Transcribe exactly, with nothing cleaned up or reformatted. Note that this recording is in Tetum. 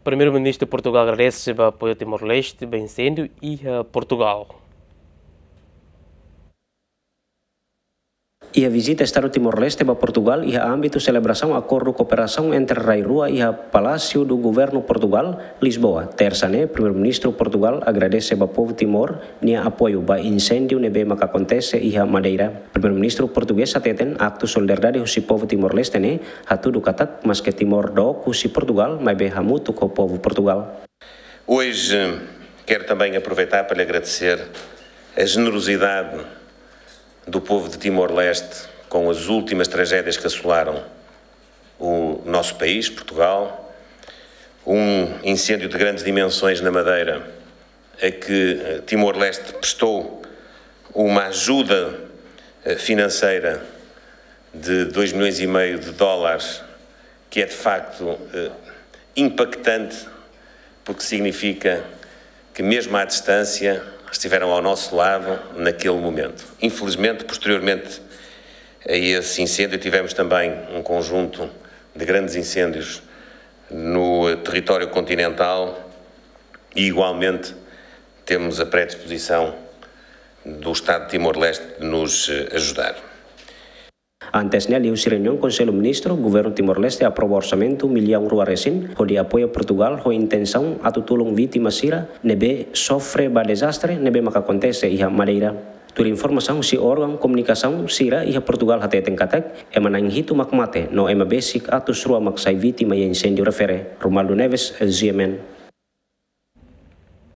Primeiru-Ministru Portugal agradese ba apoiu Timor-Leste ba inséndiu iha Portugal. Iha vizita Estadu Timor-Leste ba Portugal iha ámbitu selebrasaun akordu kooperasaun entre rai rua iha Palácio do Governo Portugal, Lisboa, Tersa ne'e, Primeiru-Ministru Portugal agradese ba povu Timor nia apoiu ba inséndiu ne'ebé maka akontese iha Madeira. Primeiru-Ministru portugés hateten aktu solidariedade husi povu Timor-Leste ne'e hatudu katak maske Timor dook husi Portugal, maibé hamutuk ho povu Portugal. Hoje quero também aproveitar para lhe agradecer a generosidade do povo de Timor-Leste com as últimas tragédias que assolaram o nosso país, Portugal. Um incêndio de grandes dimensões na Madeira, a que eh, Timor-Leste prestou uma ajuda eh, financeira de dois milhões e meio de dólares, que é de facto eh, impactante, porque significa que, mesmo à distância, estiveram ao nosso lado naquele momento. Infelizmente, posteriormente a esse incêndio, tivemos também um conjunto de grandes incêndios no território continental e, igualmente, temos a predisposição do Estado de Timor-Leste de nos eh, ajudar. Antes ne'e, liuhusi reuniaun Konsellu Ministru, Governu Timor-Leste aprova orsamentu millaun rua resin, hodi apoia Portugal ho intensaun atu tulun vítima sira ne'ebé sofre ba dezastre ne'ebé maka akontese iha Madeira. Tuir informasaun husi órgaun komunikasaun sira iha Portugal hateten katak, ema na'in hitu mak mate, no ema besik atus rua mak sai vítima iha inséndiu refere. Romualdo Neves, G M N.